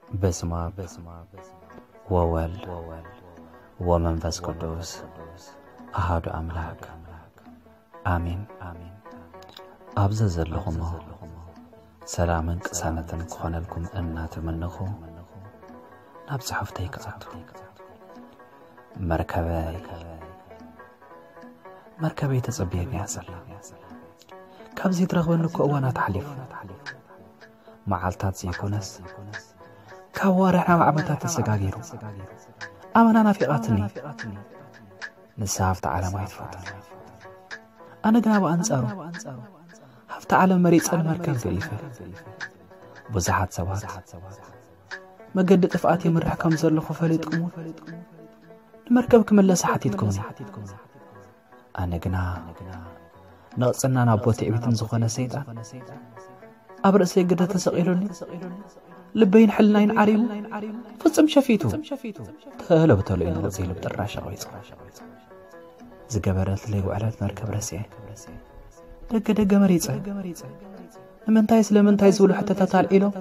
በስመ አብ ወወልድ ወመንፈስ ቅዱስ አሐዱ አምላክ አሜን። ኣብ ዘዘለኹሞ ሰላምን ቅሳነትን ክኾነልኩም እናተመነኹ፣ ናብ ጽሑፍተይ ክኣቱ። መርከበይ፣ መርከበይ ተጸብየኒ እያ ዘላ። ካብ ዘይትረኽበኒ እኮ እዋናት ሓሊፉ። መዓልታት ዘይኮነስ፣ ካብ ኣዋርሕ ናብ ዓመታት ተሰጋጊሩ። ኣመና ናፊቓትኒ። ንሳ ኣብቲ ዓለም ኣይትፈቱን። ኣነ ግና ብኣንጻሩ፣ ኣብቲ ዓለም መሪጸ ንመርከብ ገዲፈ። ብዙሓት ሰባት መገዲ ጥፍኣት የምርሕ ከም ዘለኹ ፈሊጥኩም፣ ንመርከብ ክምለሳ ሓቲትኩምኒ። ኣነ ግና፣ ነቕጽናን ኣቦ ትዕቢትን ዝኾነ ሰይጣን ኣብ ርእሰይ ግደ ተሰቒሉኒ፣ ልበይን ሕልናይን ዓሪቡ፣ ፍጹም ሸፊቱ፣ ተለብተሎ ኢሉ ነቕጺ ልብ ጥራሽ ኣቕቢጹ። ዝገበረትለይ ውዕለት መርከብ ረሲዐ፣ ደገ ደገ መሪጸ። ንምንታይ ስለምንታይ ዝብሉ ሕቶታት ኣልዒሎም፣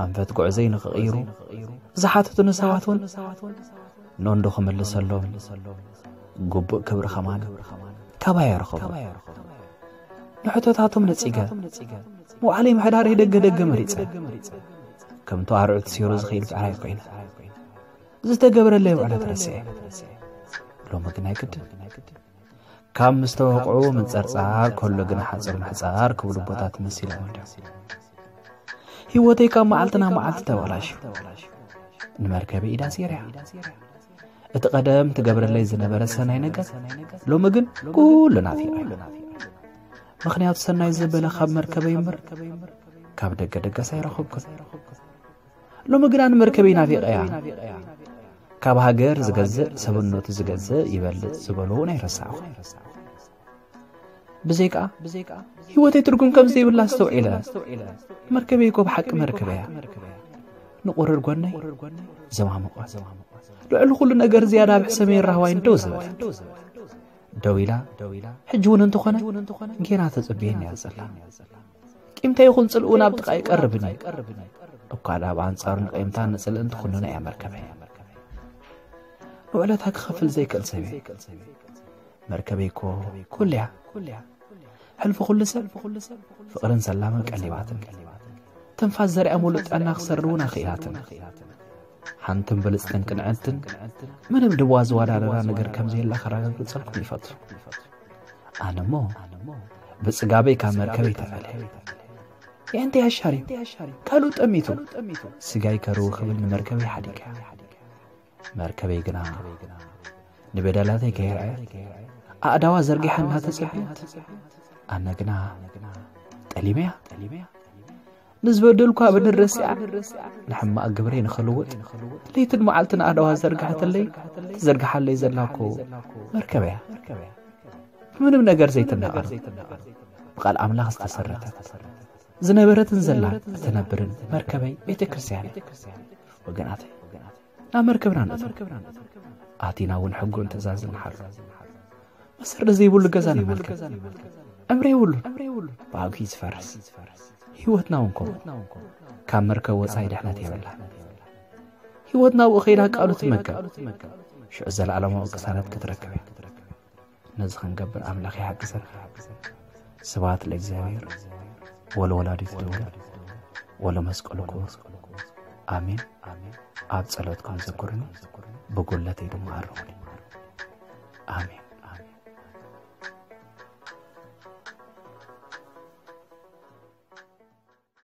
ኣንፈት ጉዕዘይ ንኽቕይሩ ዝሓተቱኒ ሰባት እውን፣ ኖንዶ ክምልሰሎም ግቡእ ክብሪ ከማን ካባይ ኣይረኸቡን። ንሕቶታቶም ነጺገ፣ መዋዕለይ ምሕዳረይ ደገ ደገ መሪጸ። ከምቲ ኣርዑት ሲሩ ዝኸይድ ብዕራይ ኮይነ። ዝተገብረለይ ውዕለት ረሲዐ። ሎሚ ግን ኣይግድን። ካብ ምስ ተወቕዑ ምንጸርጻር ከሎ ግና ሓጹር ምሕጻር ክብሉ ኣቦታት መሲሎም እንድዮም። ህይወተይ ካብ መዓልቲ ናብ መዓልቲ ተበላሽዩ። ንመርከበይ ኢዳ ኣሲረያ። እቲ ቀደም ትገብረለይ ዝነበረ ሰናይ ነገር፣ ሎሚ ግን ኩሉ ናፊቐ። ምኽንያቱ ሰናይ ዘበለ ካብ መርከበይ እምበር፣ ካብ ደገ ደገስ ኣይረኸብኩን። ሎሚ ግና ንመርከበይ ናፊቐያ። ካብ ሃገር ዝገዝእ ሰብነቱ ዝገዝእ ይበልጽ ዝበሉ እውን ኣይረሳዕኹ። ብዘይከኣ፣ ህይወተይ ትርጉም ከም ዘይብላ ኣስተውዒለ። መርከበይ እኮ ብሓቂ መርከበይ እያ። ንቑርር ጎነይ ዘማሙቐት። ልዕሊ ኩሉ ነገር ዝያዳ ኣብ ሕሰመይን ራህዋይን ደው ዝበለት። ደው ኢላ፣ ሕጂ እውን እንተኾነ፣ ጌና ተጸብየኒ እያ ዘላ። ቂምታ ይኹን ጽልኡ ናብ ጥቓ ይቀርብን እዩ። እኳ ደኣ ብኣንጻሩ ንቂምታን ንጽልእን ትኹንኖ እያ መርከበይ። ንውዕለታ ክኸፍል ዘይክእል ሰብ እየ። መርከበይ እኮ ኩሉ እያ። ሕልፊ ኩሉ ሰብ ፍቕርን ሰላምን ቀሊባትኒ። ትንፋስ ዘርኣ ሙሉእ ጥዕና ክሰርር እውን ኣኽኢላትኒ። ሓንትን ብልጽትን ቅንዕንትን ምንም ድዋ ዝወዳደራ ነገር ከም ዘየላ ከረጋግጸልኩም ይፈቱ። ኣነሞ ብጽጋበይ ካብ መርከበይ ተፈልየ። የእንተይ ኣሻሪ ካልኡ ጠሚቱ፣ ስጋይ ከርው ክብል ንመርከበይ ሓዲገ። መርከበይ ግና ንበደላተይ ከየርኣየት ኣእዳዋ ዘርጊሓ እናተጸበየት፣ ኣነ ግና ጠሊመያ። ንዝበደልኳ በደል ረሲዓ፣ ንሕማቕ ግብረይ ንኽልውጥ፣ ለይትን መዓልትን ኣእዳዋ ዘርግሐትለይ፣ ትዘርግሓለይ ዘላ እኮ መርከበያ። ብምንም ነገር ዘይትናቐር፣ ብቓል ኣምላኽ ዝተሰረተት፣ ዝነበረትን ዘላን እትነብርን መርከበይ ቤተ ክርስቲያን እያ። ወገናተይ፣ ናብ መርከብና ንእቶ። ኣቲና እውን ሕጉን ትእዛዝን ንሓሉ። መሰረት ዘይብሉ ገዛ ንመልከት። ዕምሪ የብሉን። ብኣግኡ ዝፈርስ። ህይወትና እውን ከምኡ። ካብ መርከብ ወጻኢ ድሕነት የብላን። ህይወትና ኣብኡ ከይዳ ቃሉ ትመገብ። ሽዑ ዘለኣለማዊ ቅሳነት ክትረክብ እያ። ነዚ ክንገብር ኣምላኽ ይሓግዘና። ስብሐት ለእግዚኣብሔር ወለወላዲቱ ድንግል ወለመስቀሉ ክቡር። ኣሜን። ኣብ ጸሎትኩም ዘክሩኒ፣ ብጉድለተይ ድማ ኣርሙኒ። ኣሜን።